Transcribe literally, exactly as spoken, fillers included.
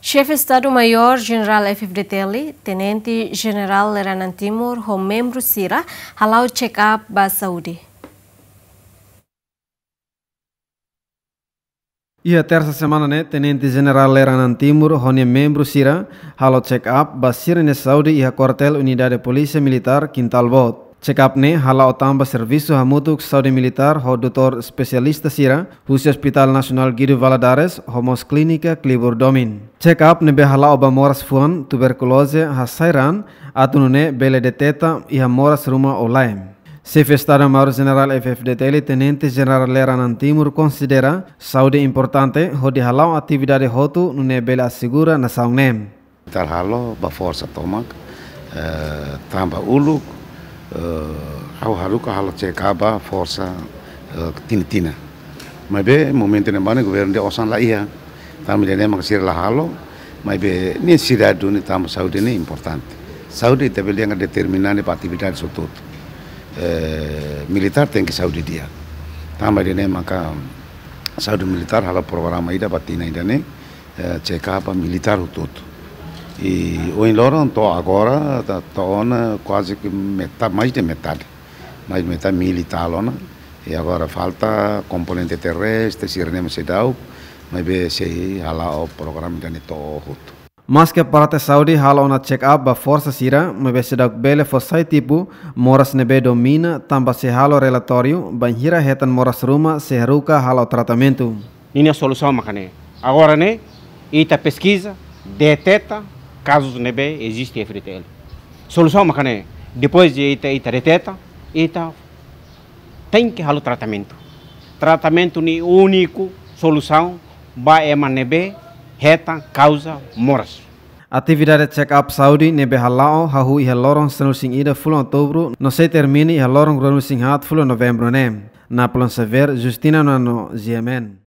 Xefe Estadu Maiór Jenerál F-FDTL, Tenente Jenerál Leranan Timur ho membru sira hala'o check-up ba saúde. Iha tersa semana ne'e, Tenente Jenerál Leranan Timur ho nia membru sira halo check-up ba sira-nia saúde iha kuartél Unidade Polísia Militár Quintal Boot. Check-up ne'e hala'o tanba servisu hamutuk saúde militár ho doutór espesialista sira husi Hospital Nasionál Guido Valadares ho mós Klínika Klibur Domin. Check-up ne'ebé hala'o ba moras fuan, tuberkuloze, hasai raan, atu nune'e bele deteta iha moras ruma ou lae. Xefe Estadu Maiór Jenerál F-FDTL, Tenente Jenerál Leranan Timur konsidera saúde importante hodi hala'o atividade hotu nune'e bele asegura nasaun ne'e. Militár halo ba forsa tomak, eh, tanba uluk, eh, ha'u haruka halo check-up ba forsa, eh, tinan-tinan. Maibé momentu ne'ebá ne'e governu nia osan la iha. Tanba ida-ne'e mak sira la halo, maibé nesesidade duni tanba saúde ne'e importante. Saúde ita bele dehan determinante ba atividade hotu-hotu. Eh, militár tenke saúde di'ak. Tanba ida-ne'e maka saúde militár halo programa ida ba tinan ida-ne'e, eh, check-up ba militár hotu-hotu. I ohin loron to'o agora, ta-, to'o ona kuaze ke meta-, mais de metade. Mais metade militár ona. I agora falta komponente terrestre, sira-ne'e mós seidauk, maibé sei hala'o programa ida-ne'e to'o hotu. Maske parte saúde halo ona check-up ba forsa sira, maibé seidauk bele fó sai tipu moras ne'ebé domina, tanba sei halo relatóriu bainhira hetan moras ruma sei haruka halo tratamentu. Ninia solusaun maka ne'e. Agora ne'e, ita peskiza, deteta kazus ne'ebé eziste iha F-FDTL. Solusaun maka ne'e, depois de ita, ita deteta, ita tenke halo tratamentu. Tratamentu ne'e úniku solusaun ba ema ne'ebé hetan kauza moras. Atividade check-up saúde ne'ebé hala'o hahú iha loron sanulu-resin-ida fulan Outubru, no sei termina iha loron ruanulu-resin-haat fulan Novembru ne'e. Napoleon Xavier, Justina Nuno, G M N.